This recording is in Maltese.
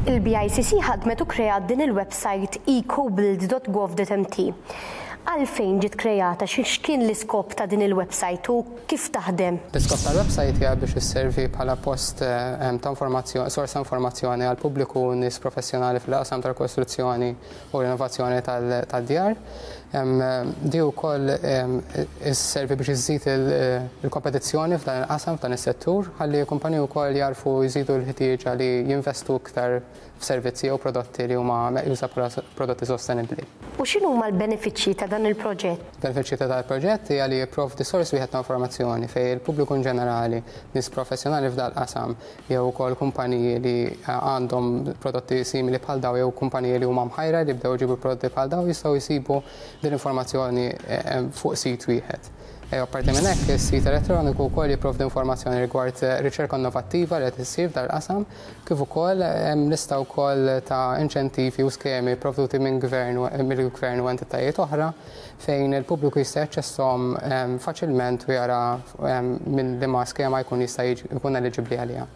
Il-BICC ħadmet u kreat din il-website ecobuild.gov.mt. Għalfejn ġiet kreata, x'kien l-iskop ta' din il-website u kif taħdem? L-iskop tal-website hija biex isservi bħala post ta' informazzjoni, sors ta' informazzjoni għall-pubbliku u nies professjonali fil-qasam tal-kostruzzjoni u rinnovazzjoni tad-djar. Di wkoll isservi biex iżżid il-kompetizzjoni f'dan il-qasam, f'dan is-settur, ħalli kumpaniji wkoll jarfu jżidu l-ħtieġa li jinvestu iktar f'servizzi jew prodotti li huma meqjusa bħala prodotti sostenibbli. U x'inhuma l-benefiċċji ta' dan il-proġett? Benefiċċji ta' dan il-proġett hija li jipprovdi sors wieħed ta' informazzjoni fejn il-pubbliku inġenerali, nies professjonali f'dan il-qasam, jew ukoll kumpaniji li għandhom prodotti simili bħal dawn jew kumpaniji li huma mħajra li jibdew iġibu prodotti bħal dawn jistgħu jsibu din l-informazzjoni fuq sit wieħed. Apparti minn hekk, is-sit elettroniku wkoll jipprovdi informazzjoni rigward riċerka innovattiva li qed issir f'dan il-qasam, kif ukoll hemm lista wkoll ta' inċentivi u skemi pprovduti minn gvern mill-gvern u entitajiet oħra fejn il-pubbliku jista' jaċċesshom faċilment u jara minn liema skema jkun jista' jkun eliġibbli għaliha.